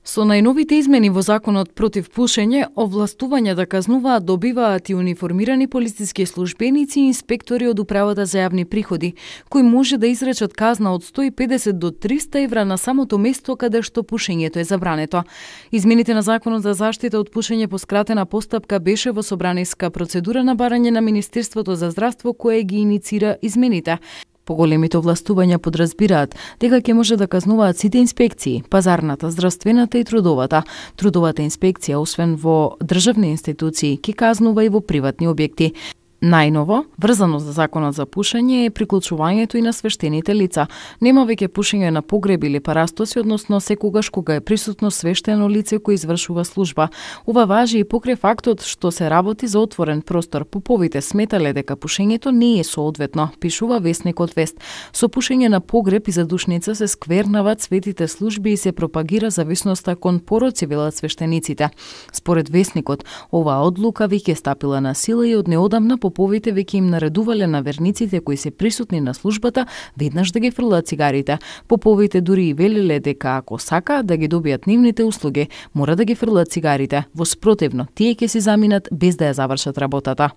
Со најновите измени во Законот против пушење, овластување да казнуваат добиваат и униформирани полициски службеници и инспектори од Управата за јавни приходи, кои може да изречат казна од 150 до 300 евра на самото место каде што пушењето е забрането. Измените на Законот за заштита од пушење по скратена постапка беше во собраниска процедура на барање на Министерството за здравство кое ги иницира измените. Поголемите овластувања подразбираат дека ќе може да казнуваат сите инспекции, пазарната, здравствената и трудовата. Трудовата инспекција, освен во државни институции, ќе казнува и во приватни објекти. Најново, врзано за Законот за пушење е приклучувањето и на свештените лица. Нема веќе пушење на погреби или парастоси, односно секогаш кога е присутно свештено лице кој извршува служба. Ова важи и покрај фактот што се работи за отворен простор. Поповите сметале дека пушењето не е соодветно, пишува весникот Вест. Со пушење на погреб и задушница се сквернават светите служби и се пропагира зависноста кон пороци, велат свештениците. Според весникот, оваа одлука веќе стапила на сила и од неодамна поповите веќе им наредувале на верниците кои се присутни на службата веднаш да ги фрлат цигарите. Поповите дури и велеле дека ако сака да ги добијат нивните услуги, мора да ги фрлат цигарите. Во спротивно, тие ќе се заминат без да ја завршат работата.